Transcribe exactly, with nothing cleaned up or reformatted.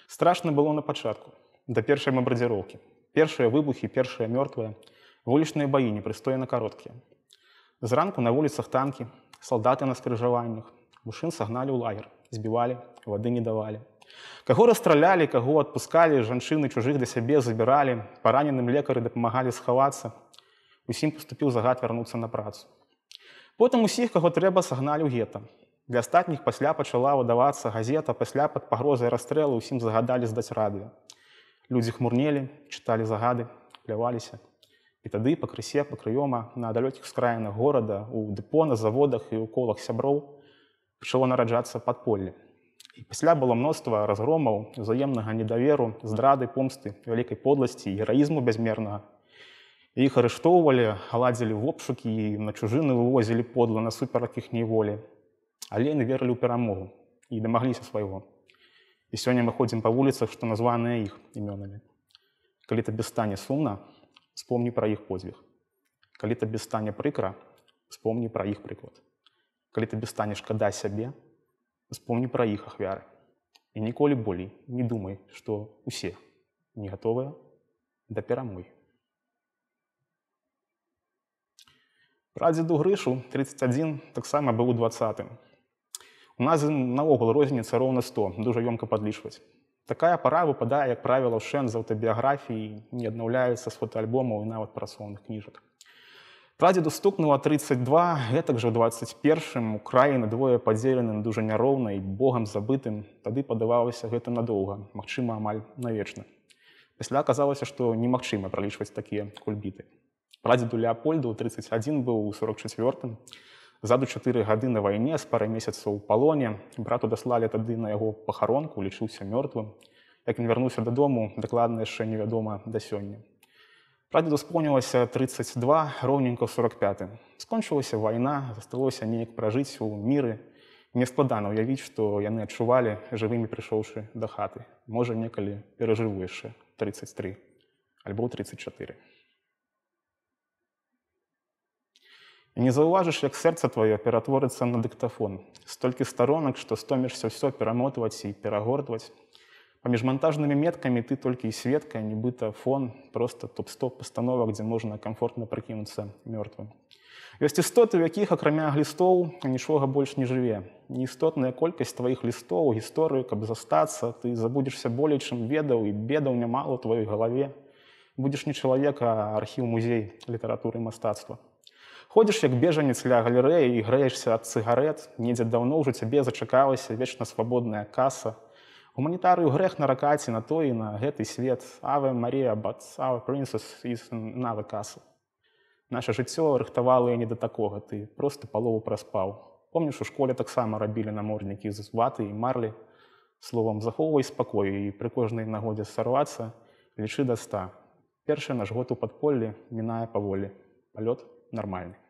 Страшна было на пачатку, да першай бомбардзіроўкі. Першыя выбухі, першыя мёртвыя, вулічныя баі непрыстойна кароткія. Зранку на вуліцах танкі, салдаты на скрыжаваннях, мужчын сагналі ў лагер, збівалі, вады не давалі. Каго расстралялі, каго адпускалі, жанчыны чужых да сябе забіралі, параненым лекары дапамагалі схавацца. Усім паступіў загад вярнуцца на працу. Потым усіх, каго трэба, сагналі ў гета. Для астатніх пасля пачала выдавацца газета, пасля пад пагрозай расстрэлу ўсім загадалі здаць радыё. Людзі хмурнелі, чыталі загады, пляваліся. І тады пакрысе, пакрыёма на далёкіх скраінах горада, у дэпо, на заводах і ў колах сяброў пачало нараджацца падполле. І пасля было мноства разгромаў, узаемнага недаверу, здрады, помсты, вялікай подласці, гераізму бязмернага. Іх арыштоўвалі, ладзілі вобшукі і на чужыны вывозілі подла насуперак іхняй волі. Але яны верылі ў перамогу і дамагліся свайго. І сёння мы ходзім па вуліцах, што названыя іх імёнамі. Калі табе стане сумна, вспомні пра іх подзвіг. Калі табе стане прыкра, вспомні пра іх прыклад. Калі табе стане шкада сябе, вспомні пра іх ахвяры. І ніколі болей не думай, што ўсе не гатовыя да перамогі. Прадзеду Грышу, трыццаць адзін, таксама быў у дваццатым. У нас наогул розніца роўна сто, дужа ёмка падлічваць. Такая пара выпадае, як правіла, ўшчэнт з аўтабіяграфіі, не аднаўляецца з фотаальбомаў і нават працоўных кніжак. Прадзеду стукнула трыццаць два, гэтак жа ў дваццаць першым у краі надвое падзеленым дужа няроўна і богам забытым, тады падавалася гэта надоўга, магчыма, амаль навечна. Пасля аказалася, што немагчыма пралічваць такія кульбіты. Прадзеду Леапольду ў трыццаць адзін быў у сорок чацвёртым. Ззаду чатыры гады на вайне, з парай месяцаў у палоне. Брату даслалі тады на яго пахаронку, лічыўся мёртвым. Як ён вярнуўся дадому, дакладна яшчэ невядома да сёння. Прадзеду споўнілася трыццаць два, роўненька ў сорок пятым. Скончылася вайна, засталося неяк пражыць у міры. Мне складана ўявіць, што яны адчувалі, жывымі прыйшоўшы да хаты. Можа, некалі перажыву яшчэ трыццаць тры альбо трыццаць чатыры. І не заўважыш, як сэрца тваё ператворыцца на дыктафон. Столькі старонак, што стомішся ўсё перамотваць і перагортваць. Паміж мантажнымі меткамі ты толькі і сведка, нібыта фон, проста топ-стоп пастановак, дзе можна камфортна прыкінуцца мёртвым. Ёсць істоты, у якіх, акрамя глістоў, нічога больш не жыве. Неістотная колькасць тваіх лістоў, гісторыю, каб застацца, ты забудзешся болей, чым ведаў, і бедаў нямала ў тваёй галаве. Будзеш не чалавек, а архіў-музей літаратуры і мастацтва. Ходзіш, як бежанец ля галерэі і грэешся ад цыгарэт, недзе даўно ўжо цябе зачакалася вечна свабодная каса. Гуманітарыю грэх наракаць і на той, і на гэты свет. Аве Марія, but our princess is another castle. Наша жыццё рыхтавала і не да такога, ты проста палову праспаў. Помніш, у школе таксама рабілі наморднікі з ваты і марлі. Словам, захоўвай спакой і пры кожнай нагодзе сарвацца, лічы да ста. Першы наш год у падполлі мінае паволі. Палёт нормальный.